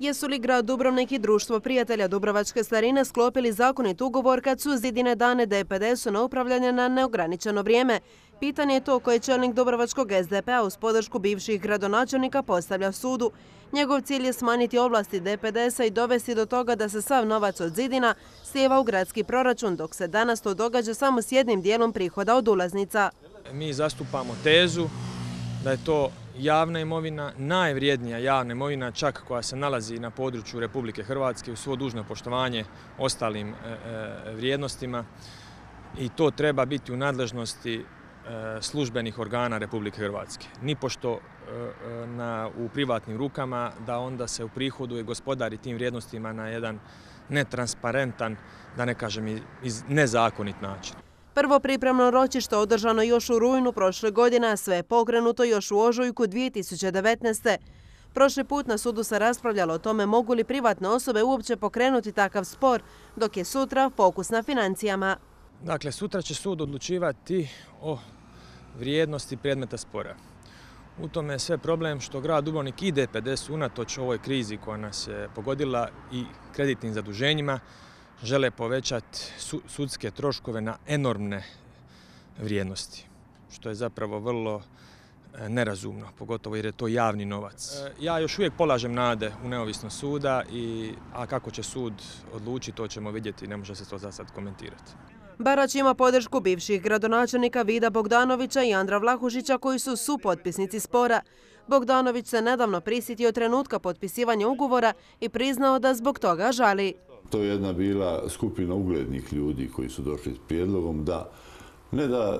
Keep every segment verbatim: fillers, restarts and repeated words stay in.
Jesu li grad Dubrovnik i Društvo prijatelja Dubrovačke starine sklopili zakonit ugovor kad su zidine dane D P D S-u na upravljanje na neograničeno vrijeme? Pitanje je to koje čelnik Dubrovačkog S D P-a uz podršku bivših gradonačelnika postavlja sudu. Njegov cilj je smanjiti ovlasti D P D S-a i dovesti do toga da se sav novac od zidina slijeva u gradski proračun, dok se danas to događa samo s jednim dijelom prihoda od ulaznica. Mi zastupamo tezu da je to javna imovina, najvrijednija javna imovina, čak koja se nalazi na području Republike Hrvatske uz svo dužno poštovanje ostalim vrijednostima, i to treba biti u nadležnosti službenih organa Republike Hrvatske. Nipošto na, u privatnim rukama da onda se uprihoduje i gospodari tim vrijednostima na jedan netransparentan, da ne kažem iz nezakonit način. Prvo pripremno ročište održano još u rujnu prošle godine, a sve je pokrenuto još u ožujku dvije tisuće devetnaeste. Prošli put na sudu se raspravljalo o tome mogu li privatne osobe uopće pokrenuti takav spor, dok je sutra fokus na financijama. Dakle, sutra će sud odlučivati o vrijednosti predmeta spora. U tome je sve problem što grad Dubrovnik i D P D S unatoč ovoj krizi koja nas je pogodila i kreditnim zaduženjima žele povećati sudske troškove na enormne vrijednosti, što je zapravo vrlo nerazumno, pogotovo jer je to javni novac. Ja još uvijek polažem nade u neovisnost suda, i, a kako će sud odlučiti, to ćemo vidjeti, ne može se to za sad komentirati. Barać ima podršku bivših gradonačelnika Vida Bogdanovića i Andra Vlahušića koji su supotpisnici spora. Bogdanović se nedavno prisjetio trenutka potpisivanja ugovora i priznao da zbog toga žali. To je jedna bila skupina uglednih ljudi koji su došli s prijedlogom da ne da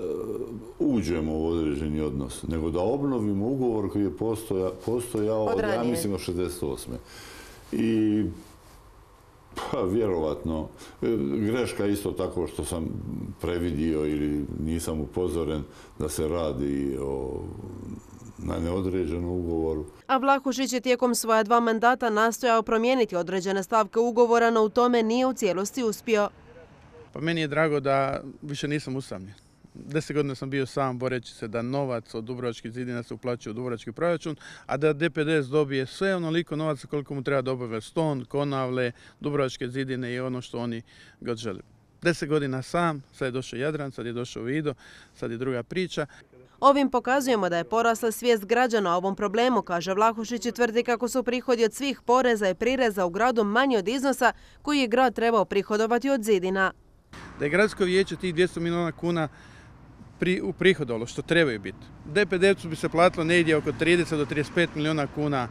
uđemo u određeni odnos, nego da obnovimo ugovor koji je postojao, postojao od, ja mislim, od šezdeset osme. I pa, vjerovatno, greška isto tako što sam previdio ili nisam upozoren da se radi o na neodređenom ugovoru. A Vlahušić je tijekom svoja dva mandata nastojao promijeniti određene stavke ugovora, no u tome nije u cijelosti uspio. Pa meni je drago da više nisam usamljen. Deset godina sam bio sam boreći se da novac od dubrovačkih zidina se uplaćuje u dubrovački proračun, a da D P D S dobije sve onoliko novaca koliko mu treba dobaviti Ston, Konavle, dubrovačke zidine i ono što oni god žele. Deset godina sam, sad je došao Jadran, sad je došao Vido, sad je druga priča. Ovim pokazujemo da je porasla svijest građana o ovom problemu, kaže Vlahušić, i tvrdi kako su prihodi od svih poreza i prireza u gradu manji od iznosa koji je grad trebao prihodovati od zidina. Da je gradsko vijeće tih dvjesto milijuna kuna uprihodovalo, što trebaju biti. D P D S-u bi se platilo negdje oko trideset do trideset pet milijuna kuna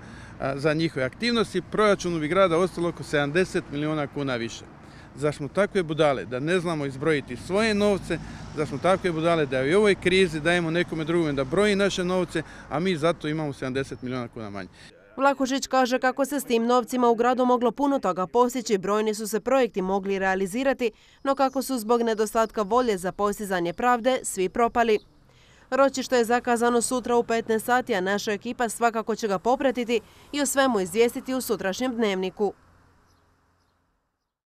za njihove aktivnosti, proračunu bi grada ostalo oko sedamdeset milijuna kuna više. Zar smo takve budale da ne znamo izbrojiti svoje novce, zar smo takve budale da i u ovoj krizi dajemo nekome drugome da broji naše novce, a mi zato imamo sedamdeset milijuna kuna manje. Vlahušić kaže kako se s tim novcima u gradu moglo puno toga postići, brojni su se projekti mogli realizirati, no kako su zbog nedostatka volje za postizanje pravde svi propali. Ročište je zakazano sutra u petnaest sati, a naša ekipa svakako će ga popratiti i o svemu izvijestiti u sutrašnjem dnevniku.